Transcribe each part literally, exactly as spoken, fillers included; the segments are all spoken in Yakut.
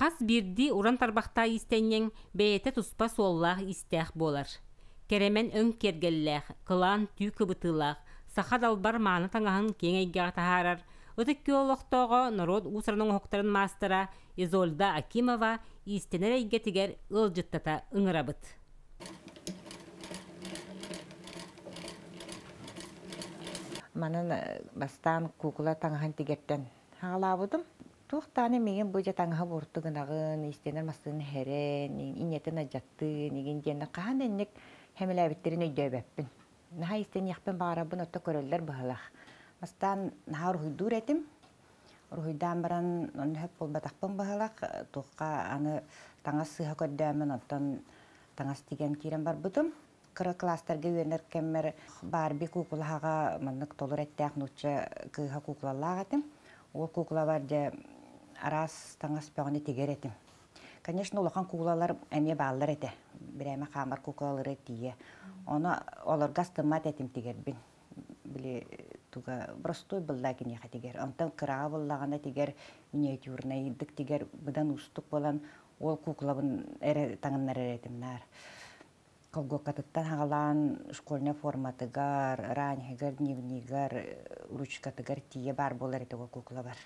Хас биирдии уран тарбахтаах иистэнньэҥ бэйэтэ туспа суоллаах-иистээх буолар. Кэрэмэн өҥ киэргэллээх, кылаан түү кыбытыылаах, саха далбар мааны таҥаһын киэҥ эйгэҕэ таһаарар Ытык Күөл олохтооҕо, норуот уус-уран оҥоһуктарын маастара Изольда Акимова иистэнэр эйгэтигэр ыалдьыттата ыҥырабыт. Манан бастаан куукула таҥаһын тигэртэн хаҕалаабытым. Туох даҕаны миигин бу дьэ таҥаһы буорту гынаҕын, иистэнэр массыына иһэрэн, инньэтин алдьаттыын игин диэн хаһан да инник хэмэлээбиттэрин өйдөөбөппүн. Наһаа иистэниэхпин баҕарабын, отто көрөллөр быһыылаах. Бастаан наһаа уруһуйдуур этим. Уруһуйдаан баран онно сөп буолбатахпын быһыылаах. Туохха аны таҥас сыыһа көрдөөммүн, онтон таҥас тигэн киирэн барбытым. Кыра кылаастарга үөрэнэр кэммэр Барби куукулаһаҕа маннык толору эттээх нуучча кыыһа куукулалаах этим. Ол куукулабар дьэ араас таҥас бөҕөнү тигэр этим. Конечно, улахан куукулалар эмиэ бааллар этэ. Бирээмэ хаамар куукулалары тиийэ. Ону олорго астыммат этим тигэрбин. Били туга простой быллаа киниэхэ тигэр. Онтон кыраҕа буллаҕына тигэр миниатюрнайдык тигэр быдан уустук буолан ол куукулабын эрэ таҥыннарар этим наар. Колгуоккатыттан хаҕалаан школьнай форматыгар, раньыгар, дневнигар, ручкатыгар тиийэ баар буолар этэ ол куукулабар.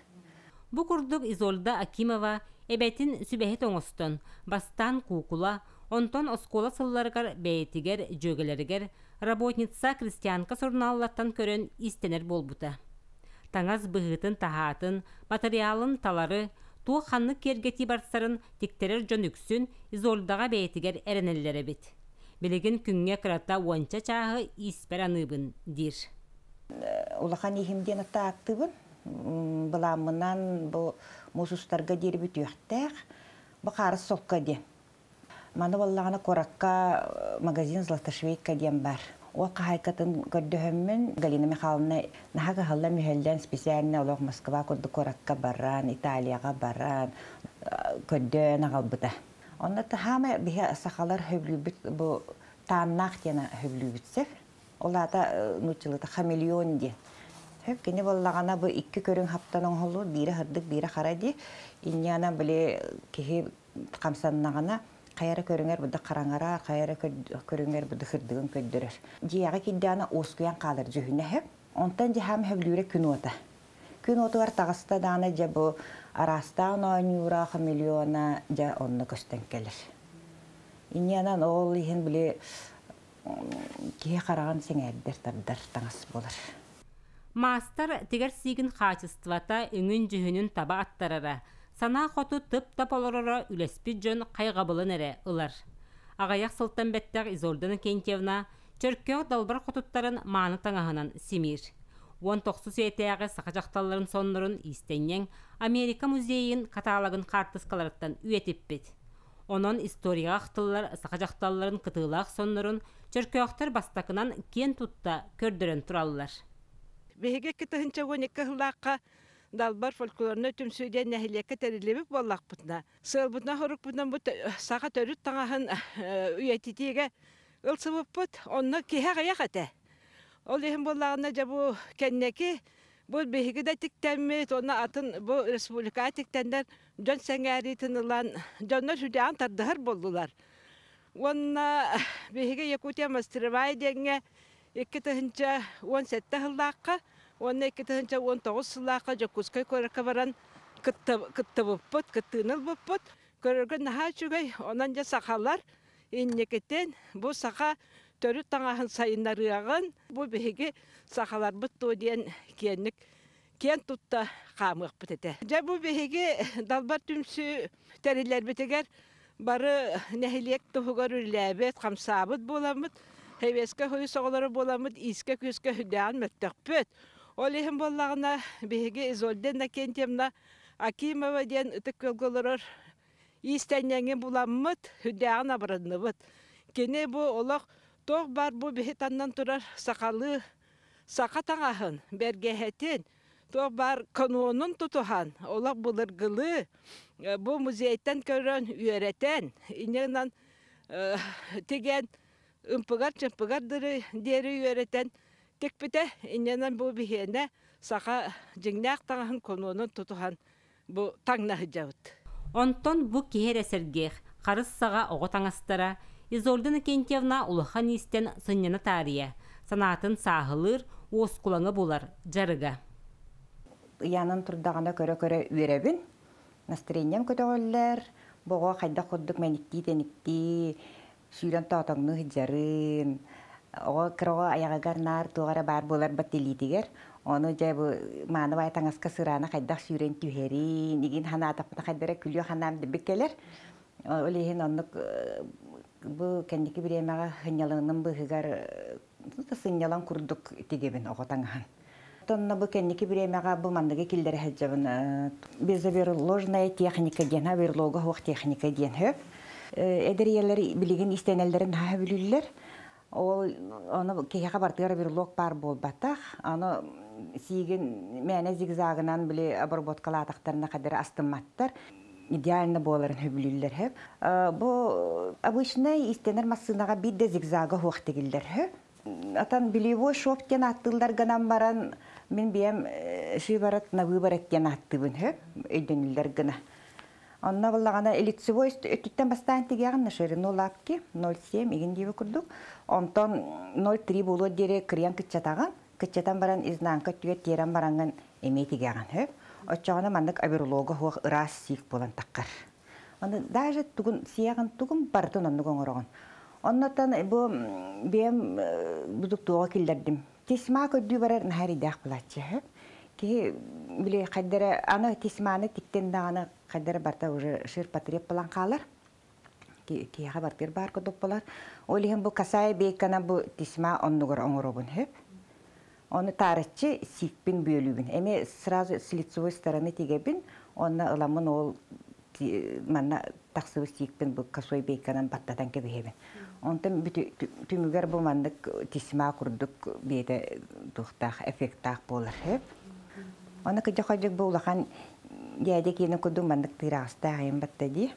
Бу курдук Изольда Акимова эбэтин сүбэһит оҥостон, бастаан куукула, онтон оскуола сылларыгар бэйэтигэр, дьүөгэлэригэр Работница, Крестьянка сурунааллартан көрөн иистэнэр буолбута. Таҥас быһыытын-таһаатын, матырыйаалын талары, туох ханнык киэргэтии барсарын тиктэрэр дьон үксүн Изольдаҕа бэйэтигэр эрэнэллэр эбит. Билигин күҥҥэ кырата уонча чааһы ииспэр аныыбын диир. Улахан ииһим диэн атта ааттыыбын. Былааммынан бу муус устарга диэри бүтүөхтээх. Бу хаарыс солко диэн. Маны буоллаҕына куоракка магазин «Златошвейка» диэн бар. Ол хаһаайкатын көрдөһөммүн Галина Михайловна наһаа кыһаллан-мүһэллэн специально олох Москва курдук куоракка баран, Италияҕа баран көрдөөн аҕалбыта. Онно хаама биһи сахалар хөбүлүүбүт бу тааннаах диэн хөбүлүүбүт сөп. Ол аата нууччалыыта хамелеон диэн. Хөп кини буоллаҕына бу икки көрүҥ хаптан оҥоһуллубут, биирэ сырдык, биирэ хара дии. Инньээнэ били киһи хамсаннаҕына хайара көрүҥэр быда хараҥарар, хайара көрүҥэр быда сырдыгын көрдөрөр. Дьиэҕэ киирдэҕинэ уоскуйан хаалар дьүһүнэ сөп. Онтон дьаһаам хөбүлүүрэ күн уота. Күн уотугар таҕыста даҕаны дьэ бу араастаан оонньуура, хамелеона дьэ онно көстөн кэлэр. Инньээнэн ол иһин били киһи хараҕын сэҥээрдэр тардар таҥас буолар. Маастар тигэр сиигин хаачыстыбата өҥүн-дьүһүнүн таба аттарара, санаа хоту тып-тап олороро үлэспит дьон хайҕабылын эрэ ылар. Аҕыйах сылтан бэттэх Изольда Иннокентьевна Чөркөөх далбар хотуттарын мааны таҥаһынан симиир. Уон тохсус үйэтээҕи саха дьахталларын соннорун иистэнньэҥ Америка музейын каталогын хаартыскаларыттан үйэтиппит. Онон историяҕа ахтыллар саха дьахталларын кытыылаах соннорун Чөркөөхтөр бастакынан киэн тутта көрдөрөн тураллар. Биһиги икки тыһыынча уон икки сыллаахха Далбар фольклорнай түмсүү диэн нэһилиэккэ тэриллибит буоллахпытына, сыалбытынан хорукпутунан бу саха төрүт таҥаһын үйэтитиигэ ылсыбыппыт. Онно киһи аҕыйах этэ. Ол иһин буоллаҕына дьэ бу кэнники бу биһиги да тиктэммит, уонна атын бу республикаҕа тиктэннэр дьон сэҥээриитин ылан, дьоннор сүрдээҕин тардыһар буоллулар. Уонна биһиги Якутия мастеровая диэҥҥэ икки тыһыынча уон сэттэ сыллаахха уонна икки тыһыынча уон тоҕус сыллаахха Дьокуускай куоракка баран кыттыбыппыт, кыттыыны ылбыппыт. Көрөргө наһаа үчүгэй. Онон дьэ сахалар инникитин бу саха төрүт таҥаһын сайыннарыаҕын, бу биһиги сахаларбыт дуо диэн киэнник киэн тутта хаамыахпыт этэ. Дьэ бу биһиги Далбар түмсүү тэриллэрбитигэр бары нэһилиэк туһугар үлэлээбит, хамсаабыт буоламмыт, Сэбиэскэй Союз оҕолоро буоламмыт иискэ-күүскэ сүрдээҕин мөлтөхпүт. Ол иһин буоллаҕына биһиги Изольда Иннокентьевна Акимова диэн ытык күөлгэ олорор иистэнньэҥи буламмыт, сүрдээҕин абыранныбыт. Кини бу олох туох баар бу биһи таннан турар сахалыы саха таҥаһын, бэргэһэтин, туох баар канонун тутуһан, олох былыргылыы бу музейтан көрөн, үөрэтэн, инньэ гынан тигэн ымпыгар-чымпыгар диэри үөрэтэн тикпитэ. Инньэнэн бу биһиэнэ саха дьиҥнээх таҥаһын канонун тутуһан бу таҥна сылдьабыт. Онтон бу киһи эрэ сэргиэх, харыс саҕа оҕо таҥастара, Изольда Иннокентьевна улахан иистэн сынньана таарыйа, санаатын сааһылыыр, уоскулаҥы булар дьарыга. Ыйаанан турдаҕына көрө-көрө үөрэбин. Настроением көтөҕүллэр, боҕо хайдах курдук мэниктии-тэниктии, сүүрэн тоотоҥнуу сылдьарын, оҕо кыра оҕо айаҕыгар наар туох эрэ баар буолар баттилиитигэр, ону дьэ бу мааны баай таҥаска сыраана хайдах сүүрэн түһэрин, игин ханаатахпына хайдара күлүө ханаам дибик кэлэр. Ол иһин оннук бу кэнники бириэмэҕэ сынньалаҥым быыһыгар сынньалаҥ курдук тигибин оҕо таҥаһын. Тонна бу кэнники бириэмэҕэ бу манныгы киллэрэ сылдьабын безоверложная техника диэн, оверлога суох техника диэн хөп. Эдэр ийэлэр билигин истэнэллэрин наһаа бүлүүллэр. Ол ону киһиэхэ бартыгар оверлог баар буолбатах. Аны сиигин мээнэ зигзагынан били обработкалаатахтарына хадары астымматтар. Идеально буоларын хөбүлүүллэр хөп. Бу обычный истэнэр массыынаҕа биир да зигзага суох тигиллэр хөп. Атан бельевой шов диэн аттыыллар гынан баран мин биэм шиворот на выворот диэн аттыыбын хөп өйдөнүллэр гына. Онно буллаҕына лицевой өттүттэн бастаан тигиэҕин на ширину лапки ноль семь игин диэби курдук. Онтон ноль три буолуо диэри кырыйан кыччатаҕын, кыччатан баран изнанка өттүгэр тиэрэн бараҥҥын эмиэ тигиэҕин хөп. Оччоҕуна маннык оверлога суох ыраас сиик буолан таххар. Аны даже тугун сиэҕин тугун барытын оннук оҥороҕун. Оннотон бу биэм будук туоҕа киллэрдим. Тесьма көрдүү барар наһаа эрэйдээх булааччы. Киһи били хайдара аны тесьманы тиктен даҕаны хайдара барта уже ширпотреб булан хаалар. Киһиэхэ бартыыр баар курдук буолар. Ол иһин бу касай бейкана бу тесьма оннугар оҥоробун хөп. Оны таарыччы сиикпин бүөлүүбүн. Эми сразу с лицевой стороны тигебин, онно ыламмын ол манна тахсыбы сиикпин бу косой бейканан баттатан кэбиһэбин. Онтон түмүгэр бу маннык тесьма курдук биэтэ туохтаах эффекттаах буолар хөп. Оны кыдьа хойдук бу улахан дьээдэ киэнэ курдук маннык тыыраҕастаах айан батта дии.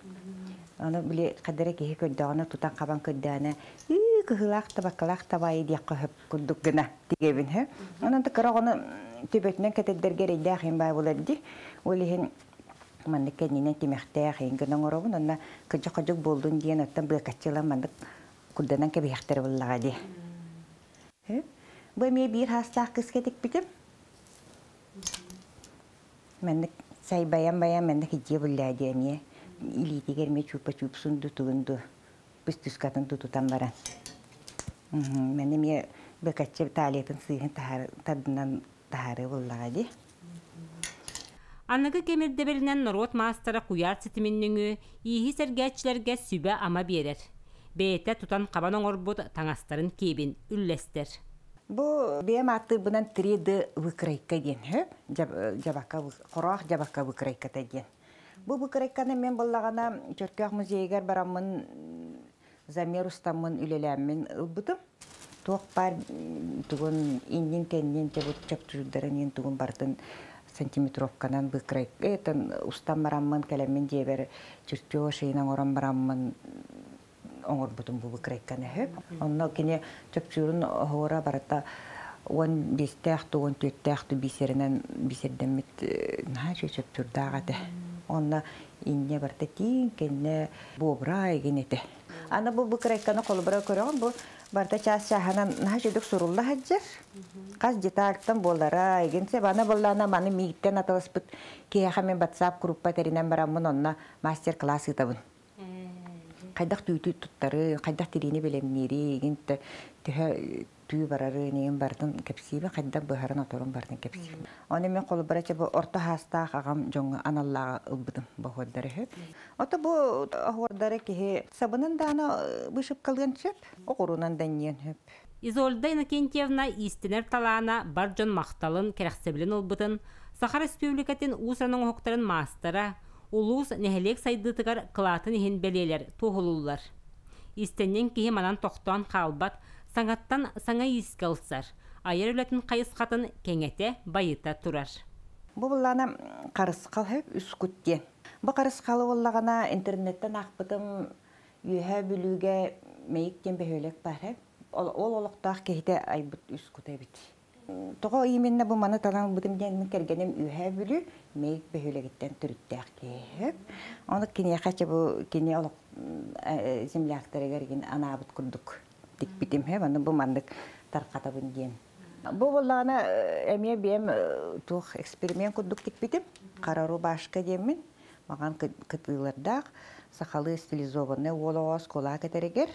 Оны били хадара киһи көрдөҕүнэ тутан хабан көрдөөнө ыы кыһылаах табаккалаах табаайы диэххэ хөп курдук гына тигебин хөп. Онон кыра оҕону төбөтүнэн кэтэрдэргэ эрэйдээх иһин баа буолар дии. Ол иһин маннык кэннинэн тимэхтээх иһин гына оҥоробун, онно кыдьа-ходьук буоллун диэн оттон быакаччылан маннык курданан кэбиһэхтэрэ буллаҕа дии. Бу эмиэ биир хаастаах кыска тикпитим. Маннык сайбайан баян маннык идьиэ буллаа дии эмиэ. Илиитигэр эмиэ чуупа-чуупсун ду тугун ду пыстыскатын ду тутан баран. Манна эмиэ быакаччы талиятын сыыһын тардынан таһаарыы буллаҕа дии. Аныгы кэм ирдэбилинэн норуот маастара куйаар ситимин нөҥүө ииһи сэргээччилэргэ сүбэ-ама биэрэр. Бэйэтэ тутан хабан оҥорбут таҥастарын киэбин үллэстэр. Бу бэйэм ааттыырбынан три Д выкройка диэн хөп, жабака хороох жабака выкройката диэн. Бу выкройканы мен буллаҕына Чөркөөх музейыгар бараммын замер устаммын үлэлээммин ылбытым. Туох баар тугун иннин кэннин чабыт чапчуурдарын иин тугун бартын сантиметровканан выкройка этэн устан бараммын кэлэммин дьиэбэр чертеж ыйынан оҥорон бараммын оҥорбутум бу выкройканы хөп. Онно кини чопчуурун оһуора барыта уон биэстээх ту уон түөртээх ту бисеринэн бисердэммит наһаа үчүгэй чопчуурдаах этэ. Онно инньэ барыта тииҥ кэннэ буобура игин этэ. Аны бу выкройканы холобура көрөҕүн бу барыта чаас чааһынан наһаа үчүгдүк сурулла сылдьар. Хас детальтан буолара игин сеп аны буоллаана маны мииттэн аталаспыт киһиэхэ мен WhatsApp группа тэринэн бараммын онно мастер-класс ыытабын. Хайдах түүтү туттары, хайдах тириини бэлэмниири, игин төһө түү барары, нигин бартын кэпсиибин, хайдах быһарын оторун бартын кэпсиибин. Оны мен холобура бу орто хаастаах аҕам дьоҥҥо аналлааҕа ылбытым боһуордары хөп. Ото бу оһуордары киһи сабынын даана вышивкалыан сөп, оҕурунан даньыан хөп. Изольда Иннокентьевна иистэнэр талаана бар дьон махталын кэрэхсэбилин ылбытын, Саха Республикатын уус оҥоһуктарын маастара, улуус нэһилиэк сайдыытыгар кылаатын иһин бэлиэлэр туоһулууллар. Иистэнньэҥ киһи манан тохтоон хаалбат, саҥаттан саҥа иискэ ылсар, айар үлэтин хайысхатын кэҥэтэ байыта турар. Бу буллаана харысхал хөп үс кут диэн. Бу харысхалы буллаҕына интернеттен аахпытым үөһэ бүлүүгэ мэйик диэн бөһүөлэк баар хөп. Ол олохтоох киһитэ айбыт үс кута эбит. Тоҕо именно бу маны талан ылбытым диэн кэргэним Үөһээ Бүлүү Мэйик бөһүөлэгиттэн төрүттээх киһи. Ону киниэхэ чэ бу кини олох земляктарыгар анаабыт курдук тикпитим хэ маны бу маннык тархатабын диэн. Бу буоллаҕына эмиэ биэм туох эксперимент курдук тикпитим. Хара рубашка диэммин маҕан кытыылардаах сахалыы стилизованный уол оҕо оскуола кэтэригэр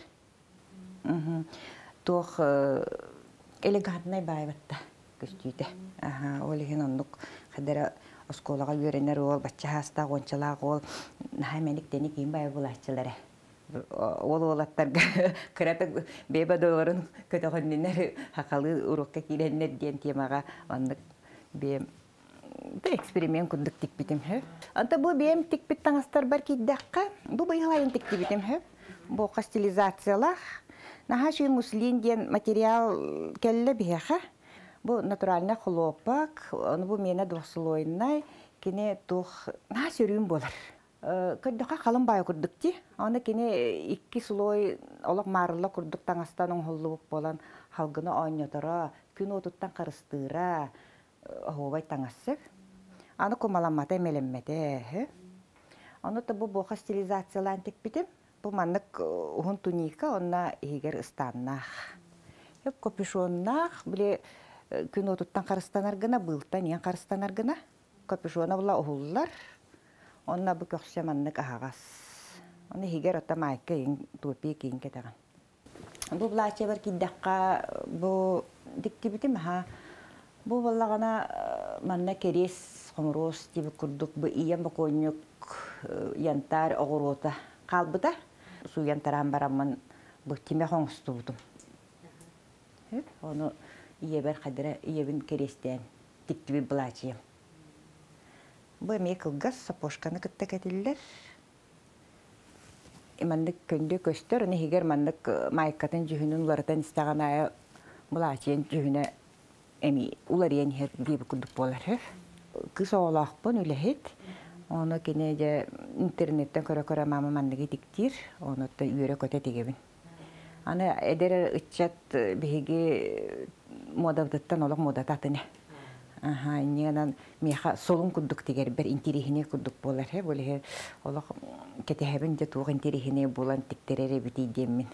туох элегантнай баайбатта көстүүтэ. Аха, ол иһин оннук хадара оскуолаҕа үөрэнэр уол, бачча хаастаах уончалаах уол наһаа мэник-тэник иин баайы булааччылара. Ол уолаттарга кыратык бэйбэ долларын көтөҕөннүнэр хахалы урукка киирэннэр диэн темаҕа оннук бэйэм эксперимент курдук тикпитим хө. Анта бу бэйэм тикпит таҥастарбар киирдэххэ, бу быйыл тиктибитим хө. Бу стилизациялаах. Наһаа шүй муслин диэн материал кэллэ биһиэхэ. Бу натуральный хлопок, ону бу миэнэ двухслойный, кини туох наһаа сөрүүн буолар. Көрдөхө халын баайы курдук ти. Аны кини икки слой олох маарылла курдук таҥастан оҥоһуллубут буолан халгына оонньоторо, күн уотуттан харыстыыра, оһуобай таҥассык. Аны кумаламмата эмэлэммэтэ. Ону та бу буоха стилизациялаан тикпитим. Бу маннык уһун туника, онна иһигэр ыстааннаах. Хөп капюшоннаах, биле күн уотуттан харыстанар гына, быылтан иэн харыстанар гына. Капюшона була уһуллар. Онна бу көхсө маннык аһаҕас. Оны иһигэр ота майка иин топия киин кэтэҕин. Бу былааччабар киирдэххэ бу диктибитим аха. Бу боллаҕына манна кэриэс хомуруос тиби курдук бу ийэм бокуонньук янтарь оҕуруота хаалбыта. Сууйан тараан бараммын бу тимэх оҥостубутум. Ону ийэбэр хадара ийэбин кэриэстээн тиктибит былаачыйам. Бу эмиэ кылгас сапожканы кытта кэтиллэр. Маннык көндө көстөр, оны иһигэр маннык майкатын дьүһүнүн уларытан истэҕин аайы былаачыйан дьүһүнэ эми уларыйан иһэр диэби курдук буолар. Кыс оҕолоохпун үлэһит. Ону кини дьэ интернеттен көрө-көрө мама манныгы тиктиир, ону үөрэ көтө тигебин. Аны эдэр ыччат биһиги модабытыттан олох модата атыны. Аха, иннинэн миэхэ солун курдук тигэрбэр интириһине курдук буолар хэ, боле олох кетеһэбин дьэ туох интириһине буолан тиктерер эбити диэммин.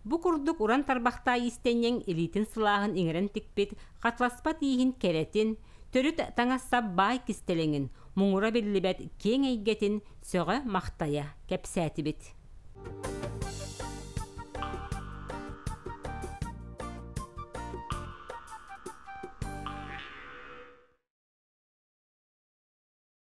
Бу курдук уран тарбахтаа истэнньэҥ илиитин сылааһын иҥэрэн тикпит, хатласпат ииһин кэрэтин, төрүт таҥассап баай кистэлэҥин, муҥура биллибэт киэҥ эйгэтин сөҕө махтайа кэпсээтибит.